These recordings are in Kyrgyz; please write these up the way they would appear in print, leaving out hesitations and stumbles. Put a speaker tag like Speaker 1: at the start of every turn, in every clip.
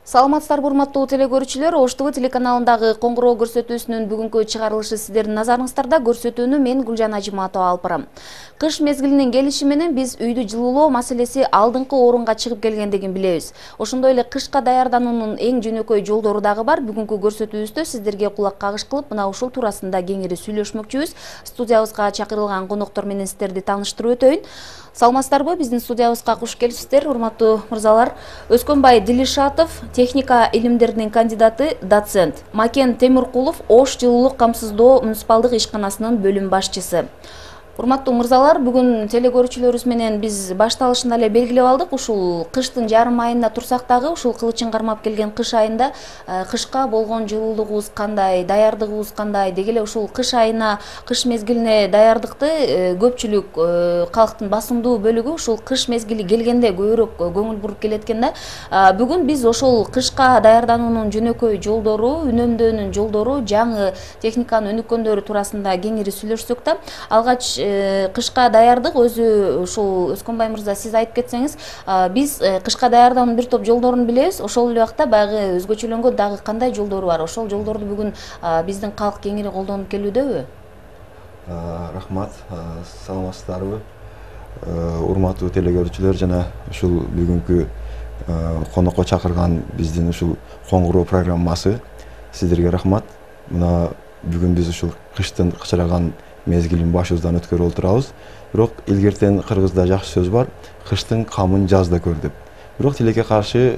Speaker 1: Саламатсыздарбы урматтуу телекөрүүчүлөр, Ош ТВ телеканалындагы коңгуроо көрсөтүүсүнүн бүгүнкү чыгарылышы сиздердин назарыңыздарда. Көрсөтүүнү мен Гүлжан Ажиматова алып барам. Кыш мезгилинин келиши менен биз үйдү жылуулоо маселеси алдыңкы орунга чыгып келгендигин билебиз. Ошондой эле кышка даярдануунун эң жөнөкөй жолдору дагы бар. Бүгүнкү көрсөтүүбүздө сиздерге кулак кагыш кылып, мына ушул туурасында кеңири сүйлөшмөкчүбүз. Студиябызга чакырылган коноктор менен сиздерди тааныштырып өтөйүн. Саламатсыздарбы? Биздин студиябызга куш келипсиздер, урматтуу мырзалар. Өскөнбай Дилишатов, техника илимдеринин кандидаты, доцент. Макен Темиркулов, Ош жылуулук камсыздоо муниципалдык ишканасынын бөлүм башчысы. Урматтуу мырзалар, бүгүн телекөрүүчүлөрүбүз менен биз башталышында эле белгилеп алдык. Ушул кыштын жарым айында турсак дагы, ушул кылычын кармап келген кыш айында кышка болгон жылуулугубуз кандай, даярдыгыбыз кандай, деги эле ушул кыш айына, кыш мезгилине даярдыкты көпчүлүк калктын басымдуу бөлүгү ушул кыш мезгили келгенде көбүрөөк көңүл буруп келет экен да. Бүгүн биз ошол кышка даярдануунун жөнөкөй жолдору, үнөмдөөнүн жолдору, жаңы техниканын өнүккөндөрү туурасында кеңири сүйлөшсөк да, алгач кышка даярдык өзү ушул Өскөнбай мырза сиз айтып кетсеңиз, биз кышка даярдануунун бир топ жолдорун билебиз. Ошол эле убакта баягы өзгөчөлөнгөн дагы кандай жолдору бар? Ошол жолдорду бүгүн биздин калк кеңири колдонуп келүүдөбү?
Speaker 2: Рахмат, саламатсыздарбы? Урматтуу телекөрүүчүлөр жана ушул бүгүнкү конокко чакырган биздин ушул коңгуроо программасы сиздерге рахмат. Мына бүгүн биз ушул кыштын кычыраган мезгилин башыбыздан өткөрүп отурабыз. Бирок илгертен кыргызда жакшы сөз бар, кыштын камын жазда көр деп. Бирок тилекке каршы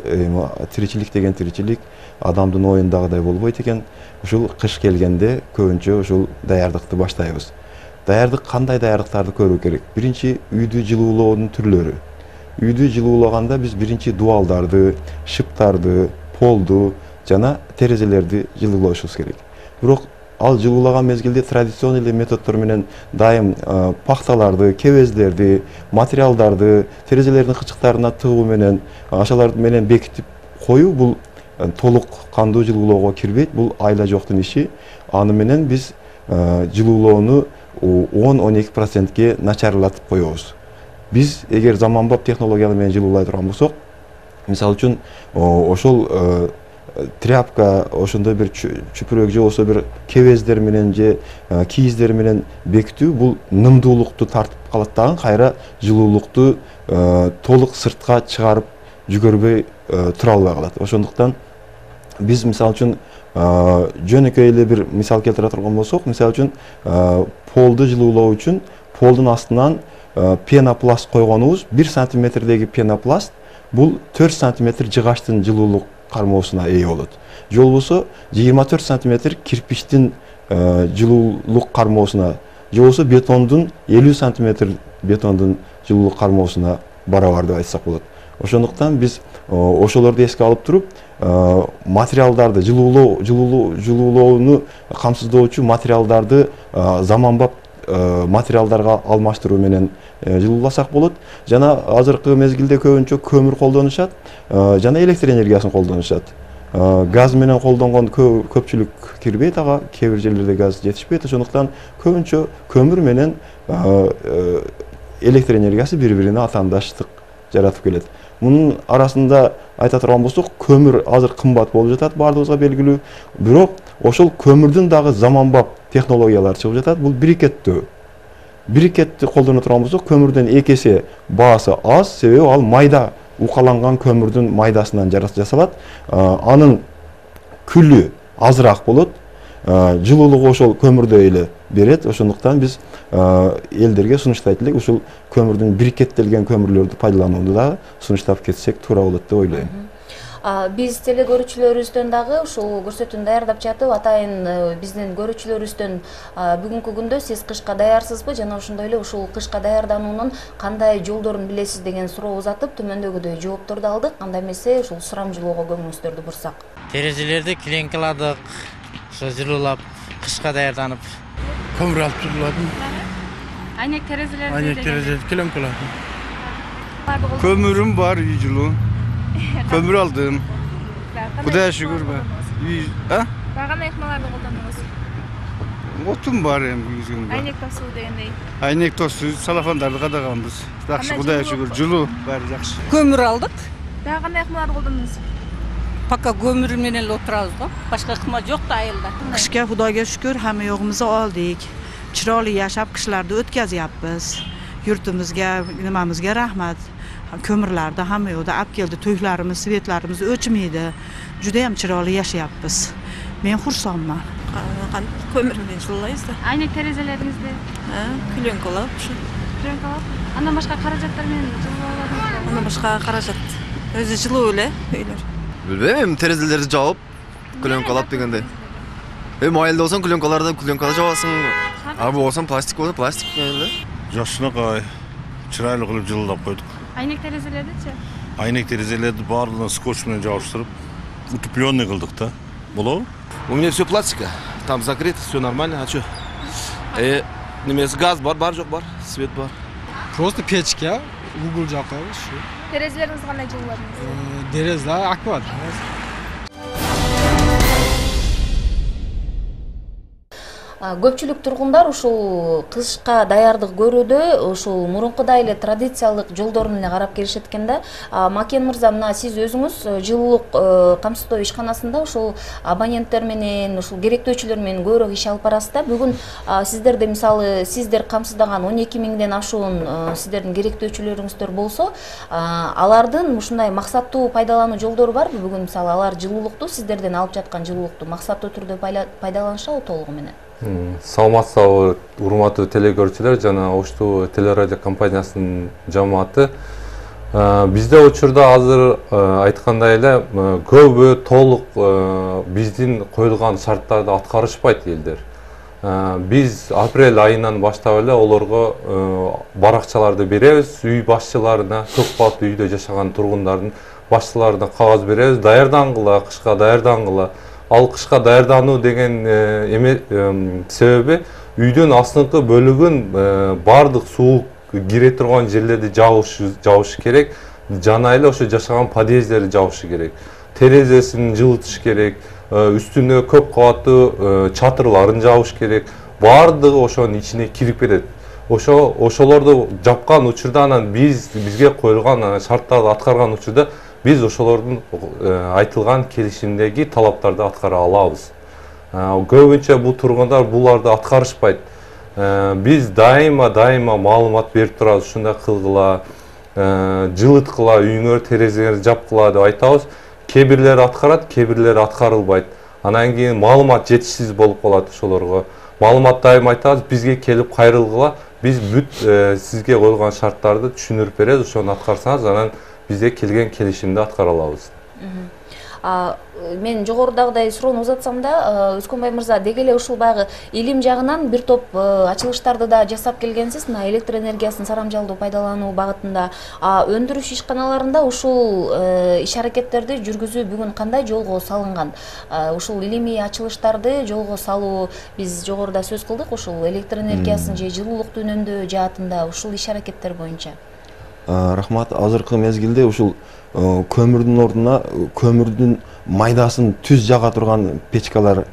Speaker 2: тиричилик деген тиричилик адамдын оюндагыдай болбойт экен. Ушул кыш келгенде көбүнчө ушул даярдыкты баштайбыз. Даярдык кандай даярдыктарды көрүү керек? Биринчи үйдү жылуулоонун түрлөрү. Үйдү жылуулаганда биз биринчи дуалдарды, шыптарды, полду жана терезелерди жылуулашыбыз керек. Бирок ал жылуулаган мезгилде традиционный методдор менен дайым пахталарды, кебездерди, материалдарды терезелердин кычыктарына тыгуу менен, ашалар менен бекитип коюу бул толук кандуу жылуулоого кирбейт. Бул айла жоктун иши. Аны менен биз жылуулоону 10-12%ке начарлатып коебуз. Биз эгер заманбап технология менен жылуулай турган болсок, мисалы үчүн ошол тряпка, ошондой бир чүпүрөк же болбосо бир кебездер менен же кийиздер менен бекитүү бул нымдуулукту тартып калат дагы, кайра жылуулукту толук сыртка чыгарып жүгөрбөй тура албай калат. Ошондуктан биз мисалы үчүн жөнөкөй эле бир мисал келтире турган болсок, мисалы үчүн полду жылуулоо үчүн полдун астынан пенопласт койгонубуз 1 сантиметрдеги пенопласт бул 4 сантиметр жыгачтын жылуулук кармоосуна ээ болот. Же болбосо 24 сантиметр кирпичтин жылуулук кармоосуна, же болбосо бетондун 50 сантиметр бетондун жылуулук кармоосуна барабар деп айтсак болот. Ошондуктан биз ошолорду эске алып туруп, материалдарды жылуулоону камсыздоочу материалдарды заманбап материалдарга алмаштыруу менен жылууласак болот. Жана азыркы мезгилде көбүнчө көмүр колдонушат, жана электр энергиясын колдонушат. Газ менен колдонгон көпчүлүк кирбейт, ага кээ бир жерлерде газ жетишпейт. Ошондуктан көбүнчө көмүр менен электр энергиясы бири-бирине атаандаштык жаратып келет. Мунун арасында айта турган болсок, көмүр азыр кымбат болуп жатат, баардыгыбызга белгилүү. Бирок ошол көмүрдүн дагы заманбап технологиялар чыгып жатат. Бул брикеттөө. Брикетти колдоно турган болсок, көмүрдөн 2 эсе баасы аз, себеби ал майда укаланган көмүрдүн майдасынан жасалат. Анын күлү азыраак болот. Жылуулугу ошол көмүрдөй эле берет. Ошондуктан биз элдерге сунуштайт элек, ушул көмүрдүн брикеттелген көмүрлөрдү пайдаланууну да сунуштап кетсек туура болот деп ойлойм.
Speaker 1: Биз телекөрүүчүлөрүбүздөн дагы ушул көрсөтүүнү даярдап жатып, атайын биздин көрүүчүлөрүбүздөн бүгүнкү күндө сиз кышка даярсызбы жана ошондой эле ушул кышка даярдануунун кандай жолдорун билесиз деген суроо узатып, төмөндөгүдөй жоопторду алдык. Анда эмесе ушул сурамжылоого көңүлүңүздөрдү бурсак.
Speaker 3: Терезелерди килеңкаладык, ошо жылуулап, кышка даярданып.
Speaker 4: Көмүр алып жылууладым.
Speaker 5: Айнек терезелерди.
Speaker 4: Айнек терезелерди килеңкаладым.
Speaker 6: Көмүрүм бар, үй жылуу. Көмүр алдым. Кудайга шүгүр бар.
Speaker 5: Кандай ыкмаларды колдондуңуз?
Speaker 6: Отум бар эми.
Speaker 5: Айнек тосуу дегендей.
Speaker 6: Айнек тосуу, салафандарды кадаганбыз. Жакшы, Кудайга шүгүр, жылуу, баары жакшы.
Speaker 7: Көмүр алдык.
Speaker 5: Дагы кандай ыкмаларды колдондуңуз?
Speaker 7: Пока көмүр менен эле отурабыз го. Башка ыкма жок да айылда.
Speaker 8: Кышка Худойга шүкүр hamma yo'g'imizni oldik. Chiroyli yashab qishlarni o'tkazyapmiz. Yurtimizga, nimamizga rahmat. Ko'mirlarni hamma yoqda olib keldi. To'ylarimiz, svetlarimiz o'chmaydi. Juda ham chiroyli yashayapmiz. Men xursandman.
Speaker 9: Көмір менен жылылайбыз.
Speaker 5: Айнек терезелеріңізде?
Speaker 9: Клёнкалап.
Speaker 5: Клёнкалап. Андан башка каражаттар менен жылуулап?
Speaker 9: Андан башка каражат. Өзү жылуу эле үйлөр.
Speaker 6: Билбейм, терезелерди жаап, клёнкалап дегенде. Майылда болсоң клёнкалардан клёнкада жабасың. А болсоң пластик болсо пластик менен эле.
Speaker 10: Жакшынакай чырайлуу кылып жылуулап койдук.
Speaker 5: Айнек терезелердичи?
Speaker 10: Айнек терезелерди баардыгын скотч менен жабыштырып, утепленный кылдык да. Болобу?
Speaker 11: У меня все пластика, там закрыто, все нормально, а что? Немес газ бар жок бар, свет бар.
Speaker 12: Просто печка, угол жакка ушу.
Speaker 5: Терезелериңиз кандай жылууладыңыз?
Speaker 12: Терезе акват.
Speaker 1: Көпчүлүк тургундар ушул кышка даярдык көрүүдө ушул мурункудай эле традициялык жолдорун эле карап келишет экен да. Макен мырза, мына сиз өзүңүз жылуулук камсыздоо ишканасында ушул абоненттер менен, ушул керектөөчүлөр менен көбүрөөк иш алып барасыз да. Бүгүн сиздерде мисалы сиздер камсыздаган 12 миңден ашуун сиздердин керектөөчүлөрүңүздөр болсо, алардын ушундай максаттуу пайдалануу жолдору барбы? Бүгүн мисалы алар жылуулукту сиздерден алып жаткан жылуулукту максаттуу түрдө пайдаланышабы толугу менен?
Speaker 13: Саламатсызбы, урматтуу телекөрүүчүлөр жана Оштуу телерадио компаниясынын жамааты. Бизде учурда азыр айткандай эле көбү толук биздин коюлган шарттарды аткарышпайт элдер. Биз апрель айынан баштап эле олорго баракчаларды беребиз, үй башчыларына, көп кабаттуу үйдө жашаган тургундардын башчыларына кагаз беребиз, даярдангыла, кышка даярдангыла. Ал кышка даярдануу деген себеби үйдүн астыңкы бөлүгүн бардык суук кире турган жерлерди жабыш керек, жана эле ошо жашаган подъездерди жабыш керек. Терезесин жылытыш керек, үстүнө көп кабаттуу чатырларын жабыш керек. Бардыгы ошонун ичине кирип кетет. Ошолорду жапкан учурда анан бизге коюлган шарттарды аткарган учурда биз ошолордун айтылган келишимдеги талаптарды аткара алабыз. Көбүнчө бул тургундар буларды аткарышпайт. Биз дайыма маалымат берип турабыз, ушундай кылгыла, жылыткыла, үйүңөр терезеңерди жапкыла деп айтабыз. Кээ бирлери аткарат, кээ бирлери аткарылбайт. Анан кийин маалымат жетишсиз болуп калат ошолорго. Маалымат дайыма айтабыз, бизге келип кайрылгыла, биз бүт сизге коюлган шарттарды түшүндүрүп беребиз, ошону аткарсаңыз анан бизде келген келишимди аткара алабыз.
Speaker 1: Мен жогорудагыдай суроону узатсам да, Өскөнбай мырза, деги эле ушул баягы илим жагынан бир топ ачылыштарды да жасап келгенсиз, мына электр энергиясын сарамжалдуу пайдалануу багытында. Өндүрүш ишканаларында ушул иш аракеттерди жүргүзүү бүгүн кандай жолго салынган? Ушул илимий ачылыштарды жолго салуу, биз жогоруда сөз кылдык, ушул электр энергиясын же жылуулукту үнөмдөө жаатында ушул иш аракеттер боюнча.
Speaker 2: Рахмат, азыркы мезгилде ушул көмүрдүн ордуна көмүрдүн майдасын түз жага турган печкалар,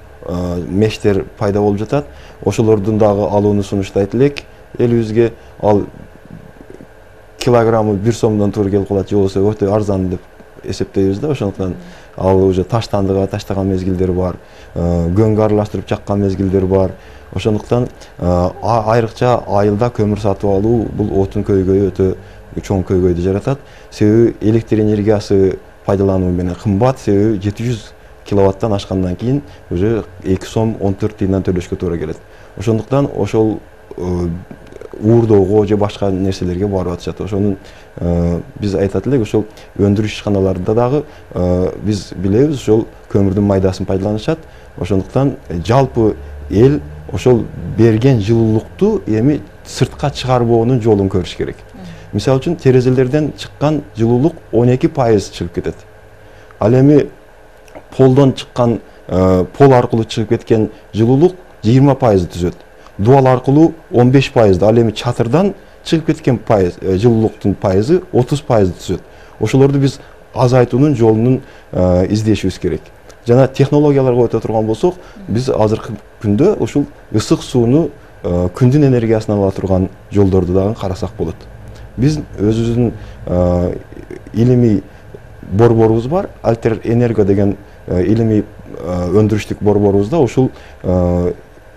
Speaker 2: мештер пайда болуп жатат. Ошолордун дагы алууну сунуштайт элек элибизге. Ал килограммы 1 сомдон туура келип калат, же болбосо өтө арзан деп эсептейбиз да. Ошондуктан ал уже таштандыга таштаган мезгилдер бар, көңгө аралаштырып жаккан мезгилдер бар. Ошондуктан айрыкча айылда көмүр сатып алуу бул отун көйгөйү өтө чоң көйгөйдү жаратат. Себеби электр энергиясы пайдалануу менен кымбат, себеби 700 киловаттан ашкандан кийин уже 2 сом 14 тыйындан төлөшкө туура келет. Ошондуктан ошол уурдоого же башка нерселерге барып атышат. Ошонун биз айтат элек, ошол өндүрүш ишканаларында дагы биз билебиз, ошол көмүрдүн майдасын пайдаланышат. Ошондуктан жалпы эл ошол берген жылуулукту эми сыртка чыгарбоонун жолун көрүш керек. Мисалы үчүн терезелерден чыккан жылуулук 12% чыгып кетет. Ал эми полдон чыккан, пол аркылуу чыгып кеткен жылуулук 20% түзөт. Дуал аркылуу 15%, ал эми чатырдан чыгып кеткен жылуулуктун пайызы 30% түзөт. Ошолорду биз азайтуунун жолун издешибиз керек. Жана технологияларга өтө турган болсок, биз азыркы күндө ушул ысык сууну күндүн энергиясынан ала турган жолдорду дагы карасак болот. Биз өзүбүздүн илимий борборубуз бар, Альтер Энерго деген илимий өндүрүштүк борборубузда ушул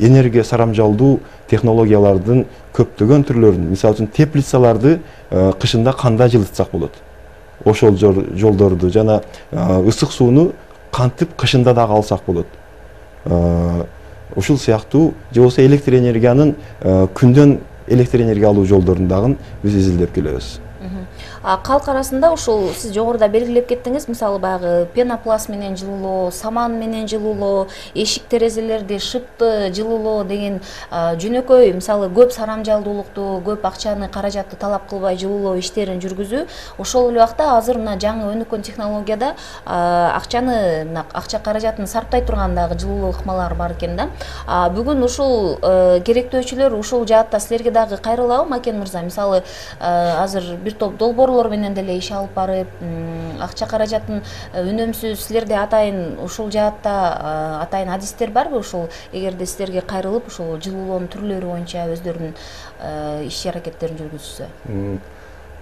Speaker 2: энергия сарамжалдуу технологиялардын көптөгөн түрлөрүн, мисалы үчүн теплицаларды кышында кандай жылытсак болот, ошол жолдорду жана ысык сууну кантип кышында дагы алсак болот. Ушул сыяктуу же болбосо электр энергиянын күндөн электр энергия алуу жолдорун дагы биз изилдеп келебиз.
Speaker 1: Калк арасында ушул сиз жогоруда белгилеп кеттиңиз, мисалы баягы пенопласт менен жылуулоо, саман менен жылуулоо, эшик терезелерди шыпты жылуулоо деген жөнөкөй, мисалы көп сарамжалдуулукту, көп акчаны, каражатты талап кылбай жылуулоо иштерин жүргүзүү. Ошол эле убакта азыр мына жаңы өнүккөн технологияда акча каражатын сарптай турган дагы жылуулоо ыкмалары бар экен да. Бүгүн ушул керектөөчүлөр ушул жаатта силерге дагы кайрылабы, Макен мырза? Мисалы азыр бир топ долбоорлор менен деле иш алып барып, акча каражатын үнөмсүз, силерде атайын ушул жаатта атайын адистер барбы? Ушул эгерде силерге кайрылып, ушул жылуулоонун түрлөрү боюнча өздөрүнүн иш-аракеттерин жүргүзсө.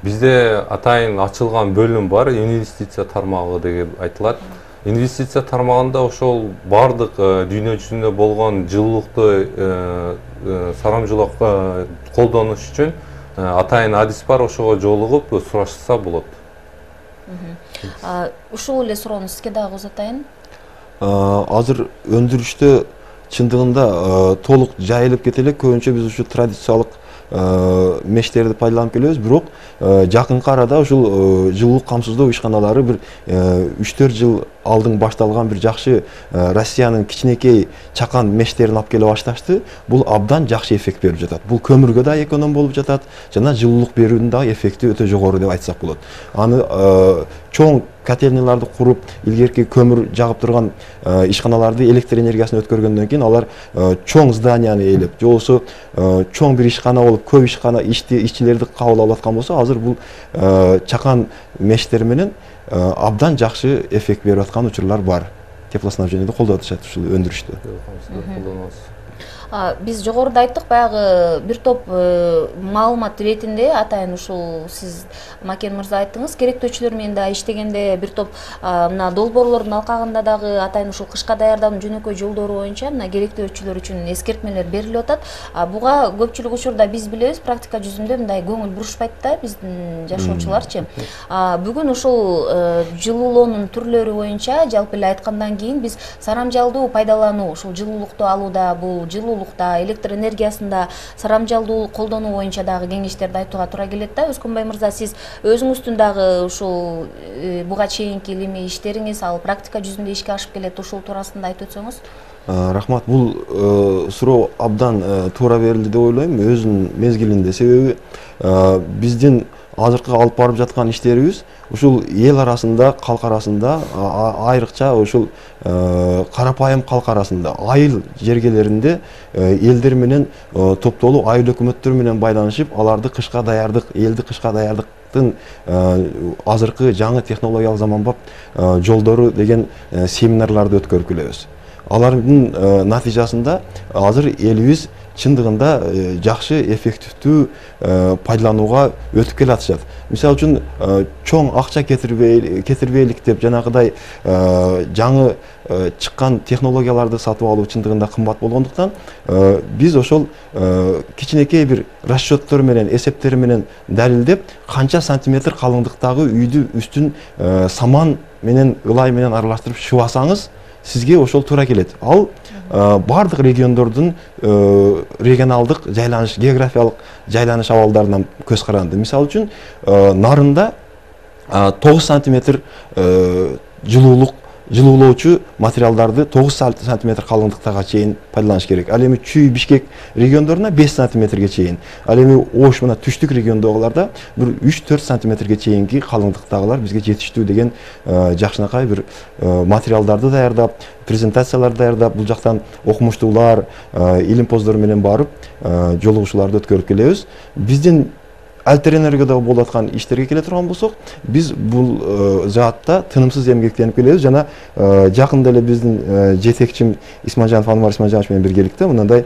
Speaker 13: Бизде атайын ачылган бөлүм бар, инвестиция тармагы деп айтылат. Инвестиция тармагында ошол бардык дүйнө жүзүндө болгон жылуулукту сарамжылап колдонуш үчүн атайын адис бар, ошого жолугуп сурашса болот.
Speaker 1: Ушул эле суроону сизге дагы узатайын.
Speaker 2: Азыр өндүрүштө чындыгында толук жайылып кете элек, көбүнчө биз ушу традициялык мештерди пайдаланып келебиз, бирок жакынкы арада ушул жылуулук камсыздоо ишканалары бир 3-4 жыл алдын башталган бир жакшы Россиянын кичинекей чакан мештерин алып келе башташты. Бул абдан жакшы эффект берип жатат. Бул көмүргө да эконом болуп жатат, жана жылуулук берүүнүн да эффекти өтө жогору деп айтсак болот. Аны чоң котельнияларды куруп, илгерки көмүр жагып турган ишканаларды электр энергиясына өткөргөндөн кийин алар чоң зданияны ээлеп, же болбосо чоң бир ишкана болуп, көп ишкана ишчилерди кабыл алып аткан болсо, азыр бул чакан мештер менен абдан жакшы эффект берип аткан учурлар бар. Теплоснабжениеде колдоп атышат ушул өндүрүштө.
Speaker 1: Биз жогоруда айттык, баягы бир топ маалымат иретинде атайын ушул сиз Макен мырза айттыңыз, керектөөчүлөр менен да иштегенде бир топ мына долбоорлордун алкагында дагы атайын ушул кышка даярдануу жөнөкөй жолдору боюнча мына керектөөчүлөр үчүн эскертмелер берилип атат. Буга көпчүлүк учурда биз билебиз, практика жүзүндө мындай көңүл бурушпайт да биздин жашоочуларчы. Бүгүн ушул жылуулоонун түрлөрү боюнча жалпы эле айткандан кийин биз сарамжалдуу пайдалануу, ушул жылуулукту алууда, бул жылуулукта, электр энергиясында сарамжалдуу колдонуу боюнча дагы кеңештерди айтууга туура келет да. Өскөнбай мырза, сиз өзүңүздүн дагы ушул буга чейинки илимий иштериңиз, ал практика жүзүндө ишке ашып келет, ушул туурасында айтып өтсөңүз.
Speaker 2: Рахмат, бул суроо абдан туура берилди деп ойлойм, өзүнүн мезгилинде. Себеби биздин азыркы алып барып жаткан иштерибиз ушул эл арасында, калк арасында, айрыкча ушул карапайым калк арасында, айыл жергелеринде элдер менен топтолуп, айыл өкмөттөр менен байланышып, аларды кышка даярдык, элди кышка даярдыктын азыркы жаңы технологиялык заманбап жолдору деген семинарларды өткөрүп келебиз. Алардын натыйжасында азыр элибиз чындыгында жакшы эффективдүү пайдаланууга өтүп келатышат. Мисалы үчүн чоң акча кетирбейлик деп жанагыдай жаңы чыккан технологияларды сатып алуу чындыгында кымбат болгондуктан биз ошол кичинекей бир расчеттор менен, эсептер менен далилдеп, канча сантиметр калыңдыктагы үйдү үстүн саман менен, ылай менен аралаштырып шыбасаңыз, сизге ошол туура келет. Ал бардык региондордун регионалдык жайланыш, географиялык жайланыш абалдарынан көз каранды. Мисалы үчүн нарында 9 сантиметр жылуулоочу материалдарды 9 сантиметр калыңдыктага чейин пайдаланыш керек. Ал эми Чүй, Бишкек региондоруна 5 сантиметрге чейин. Ал эми Ош мына түштүк региондогуларда бир 3-4 сантиметрге чейинки калыңдыктагылар бизге жетиштүү деген жакшынакай бир материалдарды даярдап, презентацияларды даярдап, бул жактан окумуштуулар, илимпоздор менен барып, жолугушууларды өткөрүп келебиз. Биздин Альтер Энергодо болуп аткан иштерге келе турган болсок, биз бул жаатта тынымсыз эмгектенип келебиз жана жакында эле биздин жетекчим Исманжанов Анвар Исманжанович менен биргеликте мындай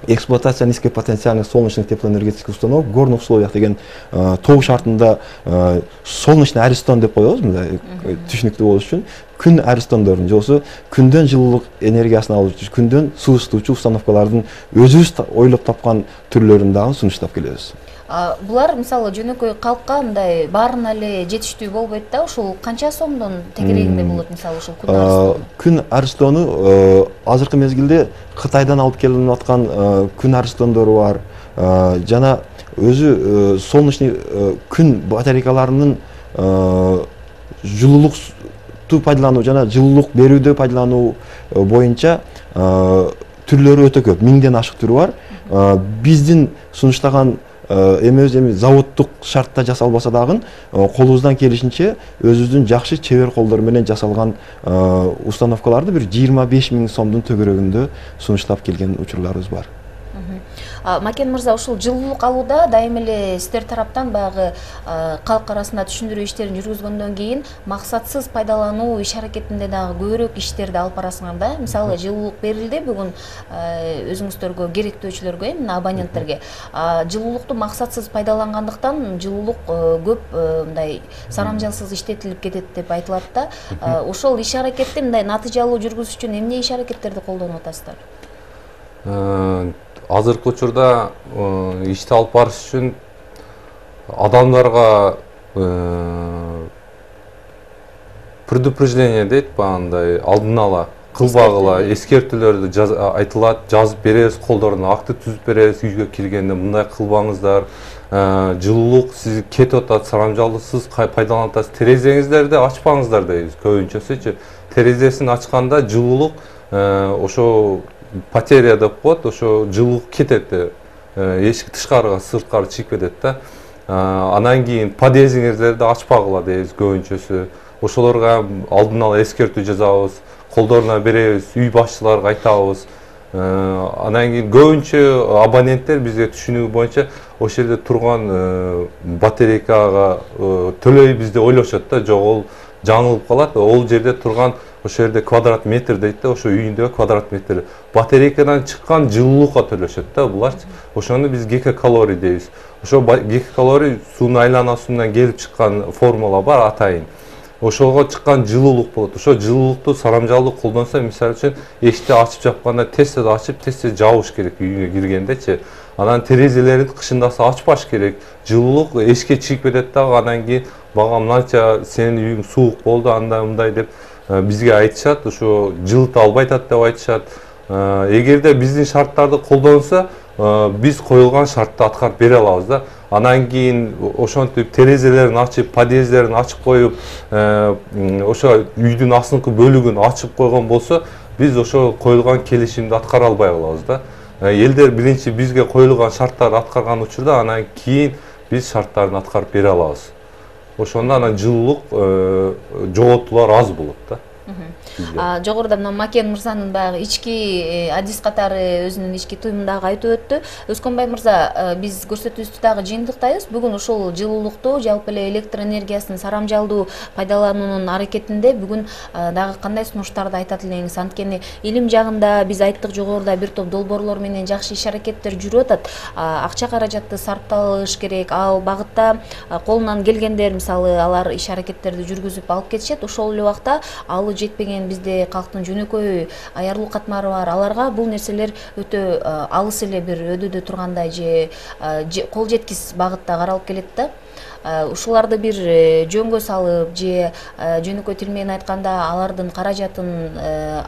Speaker 2: эксплуатация низкопотенциальных солнечных теплоэнергетических установок в горных условиях деген тоо шартында солнечный аристон деп коебуз, мындай түшүнүктүү болуш үчүн күн аристондорун же болбосо күндөн жылуулук энергиясын алып күндөн суу ысытуучу установкалардын өзүбүз ойлоп тапкан түрлөрүн дагы сунуштап келебиз.
Speaker 1: Булар мисалы жөнөкөй калкка мындай баарына эле жетиштүү болбойт да, ушул канча сомдон тегерегинде болот мисалы ушул күн аристону?
Speaker 2: Күн аристону азыркы мезгилде Кытайдан алып келинип аткан күн аристондору бар. Жана өзү солнечный күн батарейкаларынын жылуулукту пайдалануу жана жылуулук берүүдө пайдалануу боюнча түрлөрү өтө көп, 1000ден ашык түрү бар. Биздин сунуштаган эми заводдук шартта жасалбаса дагы колубуздан келишинче өзүбүздүн жакшы чебер колдор менен жасалган установкаларды бир 25 000 сомдун төгөрөгүндө сунуштап келген учурларыбыз бар.
Speaker 1: Макен мырза, ушул жылуулук алууда дайым эле сиздер тараптан баягы калк арасында түшүндүрүү иштерин жүргүзгөндөн кийин максатсыз пайдалануу иш аракетинде дагы көбүрөөк иштерди алып барасыңар да. Мисалы жылуулук берилди бүгүн өзүңүздөргө керектөөчүлөргө, мына абоненттерге. Жылуулукту максатсыз пайдалангандыктан жылуулук көп мындай сарамжалсыз иштетилип кетет деп айтылат да. Ошол иш аракетти мындай натыйжалуу жүргүзүш үчүн эмне иш аракеттерди колдонуп атасыздар?
Speaker 13: Азыркы учурда ишти алып барыш үчүн адамдарга предупреждение дейт, багындай алдын ала кылбагыла эскертүүлөрдү айтылат, жазып беребиз, колдоруна акты түзүп беребиз, үйгө киргенде мындай кылбаңыздар, жылуулук сиз кетип атат, сарамжалсыз пайдаланып атасыз, терезеңиздерди ачпаңыздар дейбиз көбүнчөсүчү. Терезесин ачканда жылуулук ошо потеря деп коет, ошо жылуулук кетет, эшик тышкарыга, сырткары чыгып кетет да. Анан кийин подъездиңиздерди ачпагыла дейбиз көбүнчөсү. Ошолорго алдын ала эскертүү жазабыз, колдоруна беребиз, үй башчыларга айтабыз. Анан кийин көбүнчө абоненттер бизге түшүнүгү боюнча ошол жерде турган батарейкага төлөйбүз деп ойлошот да, жок ол жаңылып калат. Ол жерде турган ошол жерде квадрат метр дейт да, ошо үйүндөгү квадрат метр. Батарейкадан чыккан жылуулукка төлөшөт да буларчы. Ошону биз гигакалорий дейбиз. Ошо гигакалорий суунун айланасынан келип чыккан формула бар атайын. Ошого чыккан жылуулук болот. Ошо жылуулукту сарамжалдуу колдонсо, мисалы үчүн эшикти ачып жапканда тез-тез ачып, тез-тез жабыш керек үйгө киргендечи. Анан терезелерин кышындаса ачпаш керек. Жылуулук эшикке чыгып кетет дагы, анан кийин бага мынанча сенин үйүң суук болду, андай мындай деп бизге айтышат, ошо жылыта албайт деп айтышат. Эгерде биздин шарттарды колдонсо, биз коюлган шартты аткарып бере алабыз да. Анан кийин ошентип терезелерин ачып, подъездерин ачып коюп, ошо үйдүн астыңкы бөлүгүн ачып койгон болсо, биз ошо коюлган келишимди аткара албай калабыз да. Элдер биринчи бизге коюлган шарттарды аткарган учурда, анан кийин биз шарттарын аткарып бере алабыз. Ошондо анан жылуулук жоготуулар аз болот да.
Speaker 1: Жогоруда мына Макен мырзанын баягы ички адис катары өзүнүн ички туюмундагы айтып өттү. Өскөнбай мырза, биз көрсөтүүбүздү дагы жыйынтыктайбыз. Бүгүн ушул жылуулукту, жалпы эле электр энергиясын сарамжалдуу пайдалануунун аракетинде бүгүн дагы кандай сунуштарды айтат элеңиз? Анткени илим жагында биз айттык, жогоруда бир топ долбоорлор менен жакшы иш аракеттер жүрүп атат. Акча каражатты сарпталыш керек. Ал багытта колунан келгендер, мисалы, алар иш аракеттерди жүргүзүп алып кетишет. Ошол эле убакта алуу жетпеген бизде калктын жөнөкөй аярлуу катмары бар. Аларга бул нерселер өтө алыс эле бир өдөдө тургандай же кол жеткис багытта каралып келет да. Ушуларды бир жөнгө салып же жөнөкөй тил менен айтканда алардын каражатын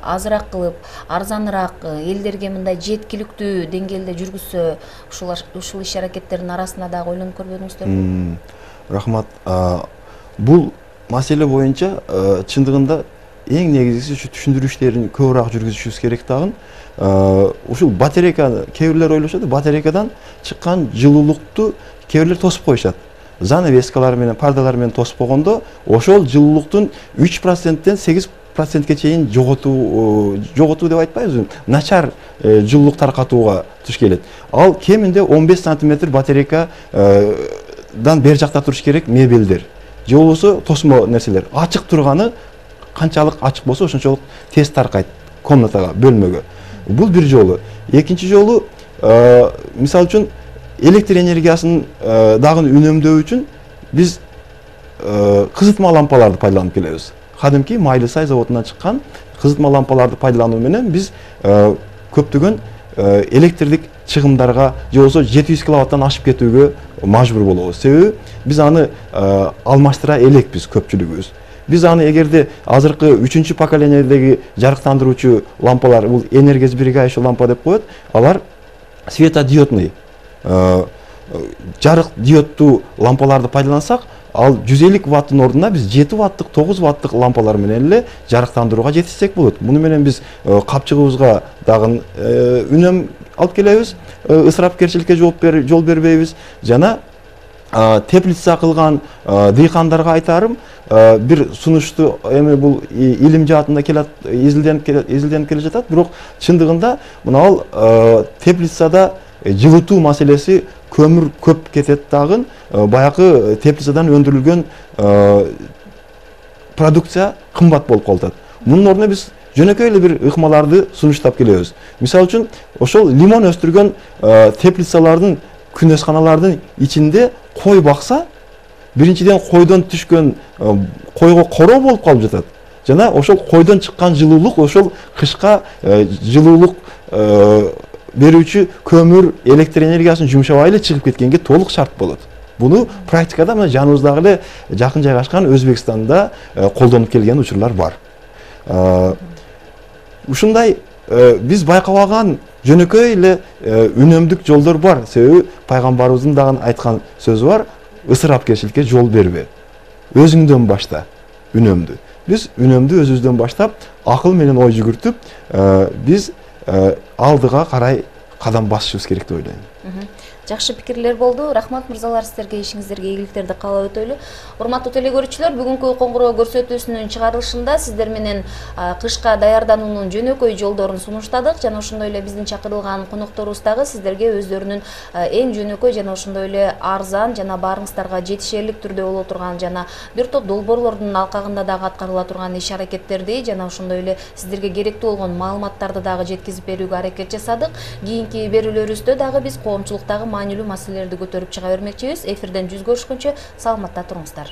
Speaker 1: азыраак кылып, арзаныраак элдерге мындай жеткиликтүү деңгээлде жүргүзсө, ушул иш аракеттердин арасында дагы ойлонуп көрбөдүңүздөрбү?
Speaker 2: Рахмат. Бул маселе боюнча чындыгында эң негизгиси ушу түшүндүрүү иштерин көбүрөөк жүргүзүшүбүз керек дагы. Ушул батарейка, кээ бирлер ойлошот, батарейкадан чыккан жылуулукту кээ бирлер тосуп коюшат. Занавескалар менен, пардалар менен тосуп койгондо, ошол жылуулуктун 3%ден 8%ге чейин жоготуу деп айтпайбызбы? Начар жылуулук таркатууга туш келет. Ал кеминде 15 сантиметр батарейкадан бер жакта туруш керек мебелдер. Же болбосо тосмо нерселер. Ачык турганы канчалык ачык болсо ошончолук тез таркайт комнатага, бөлмөгө. Бул бир жолу. Экинчи жолу мисалы үчүн электр энергиясын дагы үнөмдөө үчүн биз кызытма лампаларды пайдаланып келебиз. Кадимки Майлысай заводунан чыккан кызытма лампаларды пайдалануу менен биз көптөгөн электрлик чыгымдарга же болбосо 700 киловаттан ашып кетүүгө мажбур болобуз. Себеби биз аны алмаштыра элекпиз көпчүлүгүбүз. Биз аны эгерде азыркы 3-чү поколениядеги жарыктандыруучу лампалар, бул энергосберегающий лампа деп коет, алар светодиодный жарык диодтуу лампаларды пайдалансак, ал 150 ваттын ордуна биз 7 ваттык, 9 ваттык лампалар менен эле жарыктандырууга жетишсек болот. Муну менен биз капчыгыбызга дагы үнөм алып келебиз, ысырапкерчиликке жол бербейбиз. Жана теплица кылган дыйкандарга айтарым, бир сунушту эми бул илим жаатында изилденип келе жатат, бирок чындыгында мына теплицада жылытуу маселеси көмүр көп кетет дагы, баягы теплицадан өндүрүлгөн продукция кымбат болуп калат. Мунун ордуна биз жөнөкөй эле бир ыкмаларды сунуштап келебиз. Мисалы үчүн, ошол лимон өстүргөн теплицалардын, күнөсканалардын ичинде кой бакса, биринчиден койдон түшкөн койго короо болуп калып жатат. Жана ошол койдон чыккан жылуулук ошол кышка жылуулук берүүчү көмүр, электр энергиясын жумшабай эле чыгып кеткенге толук шарт болот. Буну практикада мына жаныбыздагы эле жакын жайгашкан Өзбекстанда колдонуп келген учурлар бар. Ушундай биз байкабаган жөнөкөй эле үнөмдүк жолдор бар. Себеби пайгамбарыбыздын дагы айткан сөзү бар: ысырапкерчиликке жол бербе. Өзүңдөн башта үнөмдү. Биз үнөмдү өзүбүздөн баштап, акыл менен ой жүгүртүп, биз алдыга карай кадам басышыбыз керек деп ойлойм.
Speaker 1: Жакшы пикирлер болду. Рахмат мырзалар, сиздерге ишиңиздерге ийгиликтерди каалап өтөлү. Урматтуу телегөрүүчүлөр, бүгүнкү коңгуроо көрсөтүүсүнүн чыгарылышында сиздер менен кышка даярдануунун жөнөкөй жолдорун сунуштадык. Жана ошондой эле биздин чакырылган конокторубуз дагы сиздерге өздөрүнүн эң жөнөкөй жана ошондой эле арзан жана баарыңыздарга жетишерлик түрдө боло турган жана бир топ долбоорлордун алкагында дагы аткарыла турган иш-аракеттерди жана ошондой эле сиздерге керектүү болгон маалыматтарды дагы жеткизип берүүгө аракет жасадык. Кийинки берүүлөрүбүздө дагы биз коомчулуктагы маанилүү маселелерди көтөрүп чыга бермекчибиз. Эфирден жүз көрүшкөнчө саламатта туруңуздар.